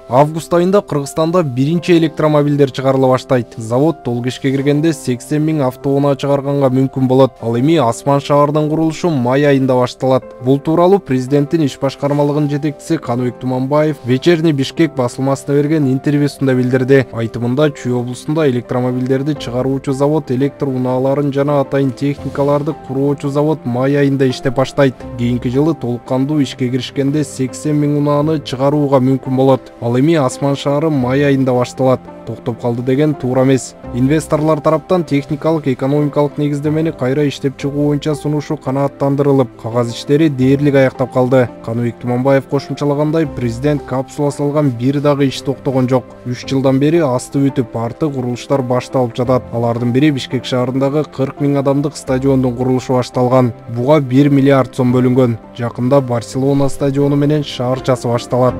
Август айында Кыргызстанда биринчи электромобилдер чыгарыла баштайт. Завод толук ишке киргенде 80 000 автоунаа чыгарганга мүмкүн болот. Ал эми Асман шаарынын курулушу май айында башталат. Бул тууралуу президенттин иш башкармалыгынын жетекчиси Каныбек Туманбаев Вечерний Бишкек басылмасына берген интервьюсунда билдирди. Айтымында Чүй облусунда электромобилдерди чыгаруучу завод электр унааларын жана атайын техникаларды куруучу завод май айында иштеп баштайт. Кийинки жылы толук кандуу ишке киришкенде 80 000 унааны чыгарууга мүмкүн болот. Ал эми Асман шаары май айында башталат. Токтоп калды деген туура эмес. Инвесторлор тараптан техникалык, экономикалык негиздемени кайра иштеп чыгуу боюнча сунушу канааттандырылып, кагаз иштери дээрлик аяктап калды. Каныбек Туманбаев кошумчалагандай, президент капсула салган бир дагы иш токтогон жок. 3 жылдан бери асты бүтүп, арты курулуштар башталып жатат. Алардын бири Бишкек шаарындагы 40 000 адамдык стадиондун курулушу башталган. Буга 1 миллиард сом бөлүнгөн. Жакында Барселона стадиону менен шаарчасы башталат.